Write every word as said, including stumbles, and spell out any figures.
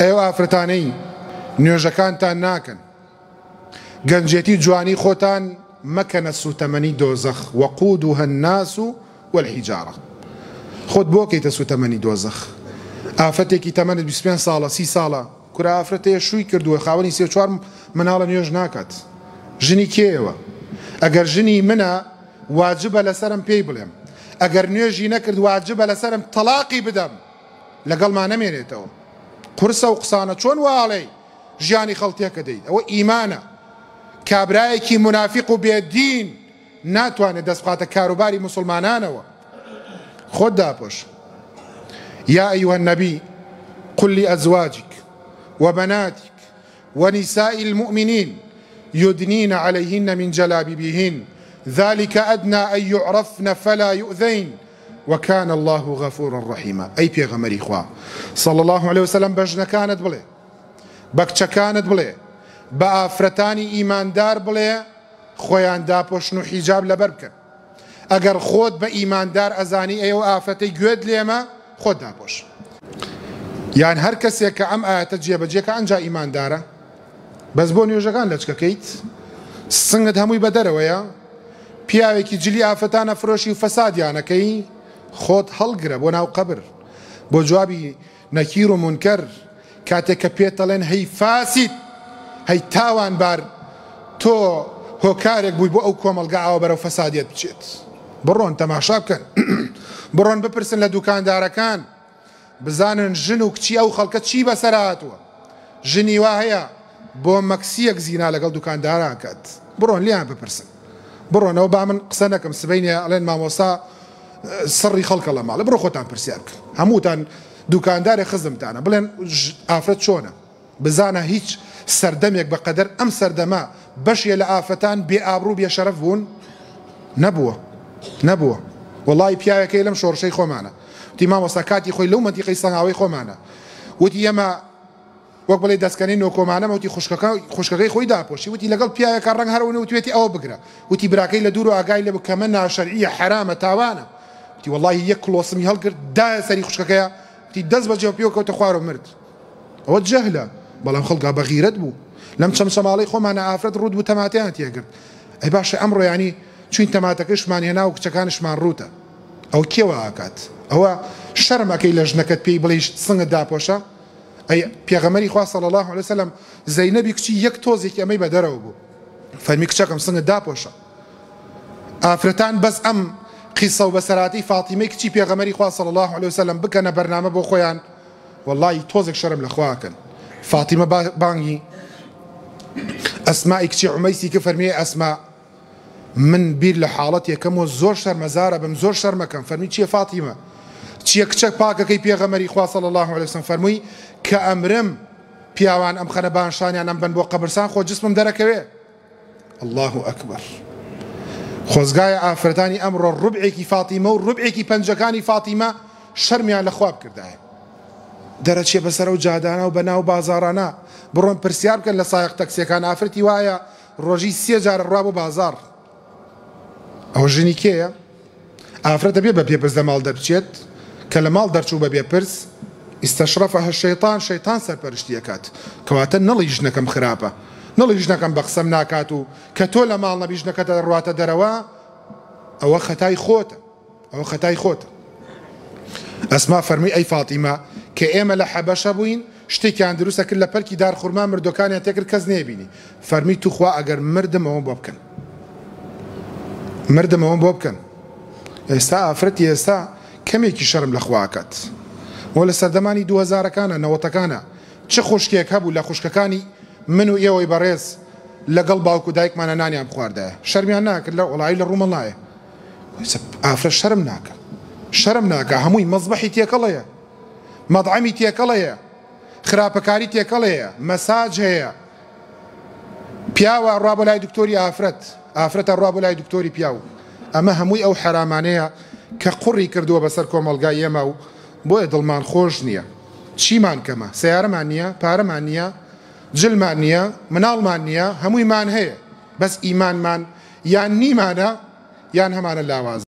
ئەو ئافرەتانەی نوێژەکانتان ناکەن، گەنجێتی جوانی خۆتان مەکەنە سوتەمەنی دۆزەخ. وەقودها الناس والحجارة. خۆت بۆ کەیتە سوتەمەنی دۆزەخ؟ ئافرەتێکی تەمەنت بیست و پێنج ساڵە، سی ساڵە، کورە ئافرەتەیە شووی کردووە، خاوەنی سێ چوار مناڵە، نوێژ ناکات. ژنی کێیەوە؟ ئەگەر ژنی منە واجبە لەسەرم پێی بڵێم، ئەگەر نوێژی نەکرد واجبە لەسەرم تەلاقی بدەم، لەگەڵما نەمێنێتەوە. قورسە و قسانە چۆن واڵێی ژیانی خەڵتێکە دەیت؟ ئەوە ئیمانە. کابرایەکی منافق و بێدین ناتوانێت دەست بخاتە کاروباری مسلمانانەوە. خۆت داپۆش. يا أيها النبي قل لأزواجك وبناتك ونساء المؤمنين يدنين عليهن من جلابيبهن ذلك أدنى أن يعرفن فلا يؤذين وكان الله غفورا رحيما. أي پێغەمبەری خوا صلى الله عليه وسلم بەژنەکانت بڵێ، بەکچەکانت بڵێ، بە ئافرەتانی ئیماندار بڵێ خۆیان داپۆشن و حیجاب لەبەر بکەن. ئەگەر خۆت بە ئیماندار ئەزانی ئەو ئافرەتەی گوێت لێمە، خۆت داپۆش. یان هەر کەسێک کە ئەم ئاەتە جێبەجێکە ئەنجا ئیماندارە، بەس بۆ نوێژەکان لەچکەکەیت، سنگت هەمووی بەدەرەوەیە، پیاوێکی جلی ئافرەتانە فرۆشی و فەسادیانەکەی، خۆت هەڵگرە بۆ ناو قەبر، بۆ جوابی نەکیر و مونکەر. کاتێک کە پێتەڵێن هەی فاسید، هەی تاوانبار، تۆ هۆکارێک بووی بۆ ئەو کۆمەڵگا ئاوە بەرەو فەسادیەت بچێت. بڕۆن تەماشا بکەن، بڕۆن بپرسن لە دوکاندارەکان، بزانن ژن و کچی ئەو خەڵکە چی بەسەر هاتووە. ژنی وا هەیە بۆ مەکسیەک زینا لەگەڵ دوکانداران کات. بڕۆن لیان بپرسن. بڕۆنەوە با من قسە نەکەم، سبەینێ ئەڵێن مامۆستا سڕی خەڵکە لە ماڵە. بڕۆ خۆتان پرسیار بکەن، هەمووتان دوکاندارێ خزمتانە، بڵێن ئافرەت چۆنە. بزانە هیچ سەردەمێک بەقەدەر ئەم سەردەمە بەشێ لە ئافرەتان بێ ئابڕوو بێ شەرەف بوون؟ نەبووە، نەبووە. وەڵی پیاوەکەی لەم شۆڕشەی خۆمانە وتی مامۆستا کاتی خۆی لەو مەنتیقەی سەنگاوەی خۆمانە، وتی ئێمە وەک بڵێ دەستکەنەی نۆکۆمانەمە، وتی خوشکەکەی خۆی داپۆشی، وتی لەگەڵ پیاوێکە ڕەنگ هەرەوە وتوێتی ئەوە بگرە، وتی براکەی لە دوور و ئاگای لێ بوو کەمە ناشەرعیە، حەرامە، تاوانە. وتی وەڵڵاهی یەک کڵۆسمی هەڵگرت دایە سەری خوشکەکەیە، وتی دەست بەجێ پێوە کەوتە خوارەوە مرد. ئەوە جەهلە، بەڵام خەڵکا بەغیرەت بوو. لەم چەمچەماڵەی خۆمانە ئافرەت ڕووت بوو تەماتەیان تێگرت. ئەی باشە ئەمڕۆ یانی چوین تەماتەکەشمان هێنا و کچەکانشمان ڕووتە، ئەو کێوە ئاکات؟ ئەوە شەرم ئەکەی لە ژنەکەت پێی بڵێی سنگت داپۆشە؟ ئەی پێغەمبەری خوا صلی الله علیه وسلم زەینەبی کچی یەک تۆزێکی ئەمەی بەدەرەوە بوو، فەرمی کچەکەم سنگت داپۆشە. ئافرەتان بەس ئەم قیسە و بەسەراتی فاتیمەی کچی پێغەمبەری خوا صلی الله علیه وسلم بکەنە بەرنامە بۆ خۆیان، وەڵڵاهی تۆزێک شەرم لە خواکەن. فاتیمە بانگی ئەسمائی کچی عومەیسی کە فەرمیێ ئەسما من بیر لە حاڵەت یەکەمەوە زۆر شەرمەزارە بم، زۆر شەرمەکەم. فەرمی چییە فاتیمە؟ چییە کچەک پاکەکەی پێغەمبەری خوا صلی الله علیه وسلم؟ فەرمووی کە ئەمرم پیاوان ئەم خەنە بانشانیان ئەم بن بۆ قەبرسان، خۆ جسمم دەرەکەوێ. الله ئەکبەر. خۆزگایە ئافرەتانی ئەمڕۆ ڕوبعێکی فاتیمە و ڕوبعێکی پەنجەکانی فاتیمە شەرمیان لە خوا بکردایە. دەرەچێ بەسەر ئەو جادانە و بەناو بازاڕانە. بڕۆن پرسیار بکەن لە سایەق تەکسیەکان، ئافرەتی وایە ڕۆژی سێ جارە ڕوا بۆ بازاڕ. ئەوە ژنی کێیە؟ ئافرەتە بێ بە پێپرس لە ماڵ دەربچێت، کە لە ماڵ دەرچوو بە بێپرس ئیستەشرەفەهە شەیطان، شەیطان سەرپەرشتی ئەکات. کەواتە نەڵی ژنەکەم خراپە، نەڵی ژنەکەم بە قسەم ناکات و کە تۆ لە ماڵ نەبی ژنەکەتە ڕواتە دەرەوە، ئەوە خەتای خۆتە، ئەوە خەتای خۆتە. ئەسما فەرمی ئەی فاتیمە کە ئێمە لە حەبەشە بووین شتێکیان دروستە کرد لە پەلکی دارخورما مردۆکانیان تێکرد کەس نەیبینی. فەرمی توخوا ئەگەر مردم ئەوەم بۆ بکەن، مردم ئەوەم بۆ بکەن. ئێستا ئافرەتی ئێستا کەمێکی شەرم لە خوا ئەکات. وە لە سەردەمانی دوو هەزارەکانە نەوەتەکانە چ خوشکێک هەبوو لە خوشکەکانی من و ئێوەی بەڕێز لەگەڵ باوک و دایکمانە نانیان بخواردایە، شەرمیان ناکرد لە وڵایی لە ڕوومەڵ نایە. ئافرەت شەرم ناکە، شەرم ناکە، هەمووی مەزبەحی تێکەڵەیە، مەطعەمی تێکەڵەیە، خراپەکاری تێکەڵەیە، مەساج هەیە. پیاوە ڕوا بۆ لای دکتۆری ئافرەت، ئافرەتە ڕوا بۆ لای دکتۆری پیاو. ئەمە هەمووی ئەو حەرامانەیە کە قوڕی کردووە بەسەر کۆمەڵگای ئێمە و بۆیە دڵمان خۆش نییە. چیمان کەمە؟ سیارەمان نییە، پارەمان نییە، جلمان نییە، مناڵمان نییە، هەموویمان هەیە، بەس ئیمانمان یان نیمانە یان هەمانە لاواز.